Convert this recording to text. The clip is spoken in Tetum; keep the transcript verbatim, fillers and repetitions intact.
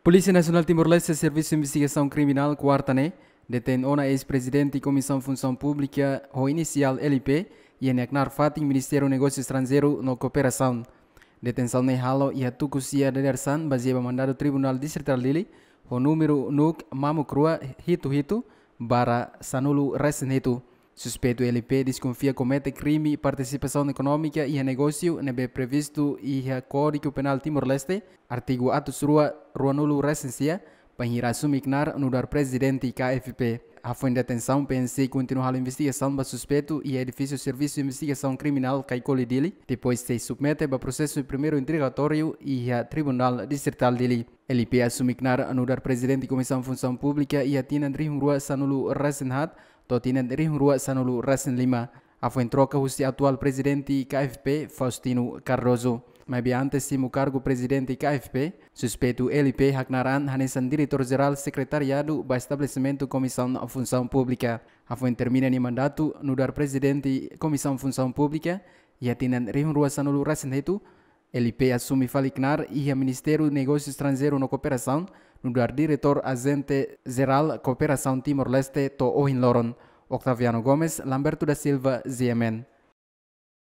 Polísia Nasionál Timor-Leste Servisu Investigasaun Kriminál kuarta ne'e detein ona eis-prezidente Komisaun Funsaun Públika ho inisiál L P iha nia knaar fatin Ministériu Negósiu Estranjeiru no Kooperasaun. Detensaun ne'e halo iha tuku sia dadeer-saan bazeia ba mandadu Tribunál Distritál Dili ho númeru NUC mamuk rua hitu hitu barra sanulu resin hitu. Suspeitu L P deskonfia komete krime partisipasaun ekonómika iha negósiu ne'ebé previstu iha Kódigu Penál Timor-Leste, artigu atus rua ruanulu resin sia, bainhira asume knaar nu'udar prezidente K F P. Hafoin detensaun, P N C kontinua halo investigasaun ba suspeitu iha edifísiu Servisu Investigasaun Kriminál Caicoli Dili, depois sei submete ba prosesu primeiru introgatóriu iha Tribunál Distritál Dili. L P asume knaar nu'udar prezidente Komisaun Funsaun Públika iha tinan rihun rua sanulu resin haat to'o tinan rihun rua sanulu resin lima. Hafoin troka husi atuál prezidente K F P, Faustino Cardoso. Maibé antes simu kargu prezidente K F P, suspeitu L P haknaar an hanesan diretór jerál sekretariadu ba estabelesimentu Komisaun Funsaun Públika. Hafoin termina nia mandatu nu'udar prezidente Komisaun Funsaun Públika iha tinan rihun rua sanulu resin hitu, L P asume fali knaar iha Ministériu Negósiu Estranjeiru no Kooperasaun nu'udar diretór ajente jerál Kooperasaun Timor-Leste to'o ohin loron. Octaviano Gomes, Lamberto da Silva, Z M N.